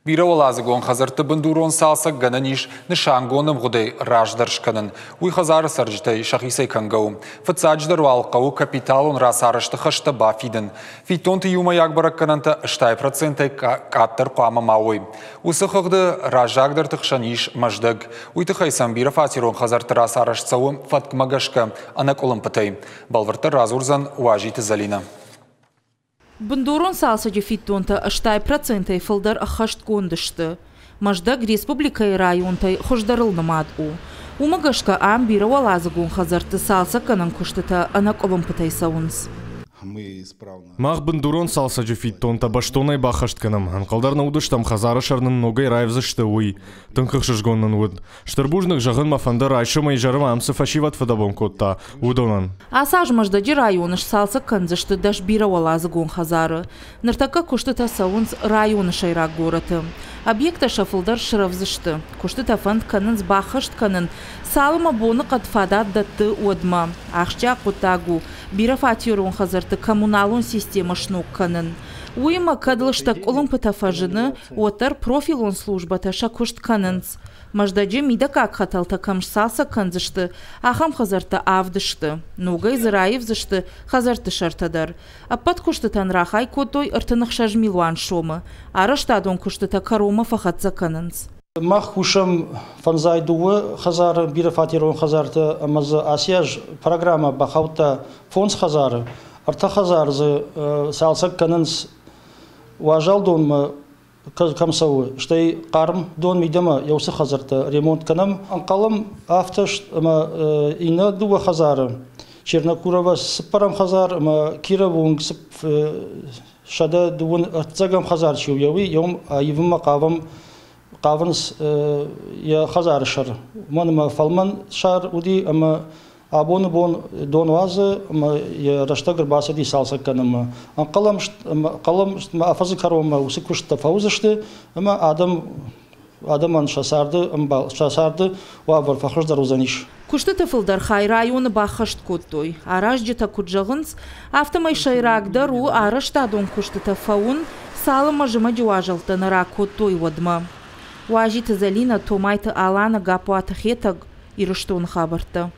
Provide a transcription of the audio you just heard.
Бирӕуӕладзыгон хӕдзӕртты бындурон цалцӕг гӕнӕн ис нысангонд ӕмгъуыдӕй раздӕр скӕнын. Уый хӕдзары цӕрджытӕй сӕхицӕй кӕнгӕ у. Фыццаджыдӕр уал хъӕуы капиталон рацарӕзты хӕстӕ бафидын. Фиддонты иумӕйаг бӕрӕггӕнӕнтӕ 80%-ӕй къаддӕр хъуамӕ ма уой. Уыцы хыгъды раззагдӕрты хсӕн ис Мӕздӕг. Уый тыххӕй сӕм бирӕфатерон хӕдзӕртты рацарӕзт цӕуы фӕткмӕ гӕсгӕ, ӕнӕкъуылымпытӕй. Бӕлвырддӕр радзурдзӕн Уазиты Зӕлинӕ. Бындурон цалцӕджы фиддонтӕ 80%-ӕй фылдӕр ӕххӕстгонд сты. Мӕздӕг республикӕйы районтӕй хуыздӕрыл нымад у. Уымӕ гӕсгӕ ам бирӕуӕладзыгон хӕдзӕртты цалцӕггӕнӕн куыстытӕ ӕнӕкъуылымпытӕй цӕуынц. Мах бындурон цалцӕджы фиддонтӕ бӕстонӕй баххӕст кӕнӕм. Ӕнхъӕлдӕр нӕ уыдыстӕм, хӕдзары сӕр нын ногӕй раивдзысты, уый. Тынг ӕхсызгон нын уыд. Стыр бузныг зӕгъын мӕ фӕнды райсомӕй изӕрмӕ ам цы фӕсивӕд фыдӕбон кодта, уыдонӕн. Ацы аз Мӕздӕджы районы сцалцӕг кӕндзысты 10 бирӕуӕладзыгон хӕдзары. Ныртӕккӕ куыстытӕ цӕуынц районы сӕйраг горӕты. Объекттӕ сӕ фылдӕр срӕвдз сты. Куыстытӕ фӕнд кӕнынц баххӕст кӕнын, цалынмӕ боныхъӕд фадат дӕтты, уӕдмӕ. Ахсджиаг хъуыддаг у, бирӕфатерон хӕдзӕртты коммуналон системӕ сног кӕнын. Уыимӕ кӕд лыстӕг къуылымпытӕ фӕзыны, уӕддӕр профилон службӕтӕ сӕ куыст кӕнынц. Мӕздӕджы мидӕггаг хӕтӕлтӕ кӕм сцалцӕг кӕндзысты, ахӕм хӕдзӕрттӕ авд сты. Ногӕй дзы раивдзысты хӕдзӕртты сӕртӕ дӕр. Ӕппӕт куыстытӕн рахай кодтой 36 милуан сомы. Арӕзтадон куыстытӕ кӕронмӕ фӕхӕццӕ кӕнынц. Мах кусӕм фӕндзай дыууӕ хӕдзары, бирӕфатерон хӕдзӕртты ӕмӕ дзы ацы аз программӕ бахаудта фондз хӕдзары. Ӕртӕ хӕдзары дзы цалцӕг кӕнынц уазал донмӕ кӕм цӕуы, стӕй хъарм дон мидӕмӕ йӕ уыцы хӕдзӕрттӕ ремонт кӕнӕм. Ӕнхъӕлӕм афтӕ ӕмӕ иннӕ дыууӕ хӕдзары, Чернокурова цыппӕрӕм хӕдзар ӕмӕ Кировы уынг 129 хӕдзар чи у, уый йӕм аивынмӕ хъавӕм хъавынц йӕ хӕдзары сӕр. Уымӕн ӕмӕ фӕлмӕн сӕр уыди ӕмӕ абоны бон дон уадзы ӕмӕ йӕ рӕстӕг ӕрбацыди цалцӕг кӕнынмӕ. Ӕнхъӕлӕм ӕмӕ афӕдзы кӕронмӕ уыцы куысттӕ фӕуыдзысты ӕмӕ адӕм адӕмӕн сӕ царды ӕмбал сӕ царды уавӕр фӕхуыздӕр уыдзӕнис. Куыстыты фылдӕр хай районы баххӕст кодтой. Аразджытӕ куыд зӕгъынц, афтӕмӕй сӕйрагдӕр у арӕзтадон куыстытӕ фӕуын, цалынмӕ зымӕджы уазӕлттӕ нӕ ракодтой, уӕдмӕ. Уазиты Зӕлинӕ, Томайты Алана, Гаппуаты Хетӕг, Ирыстоны хабӕрттӕ.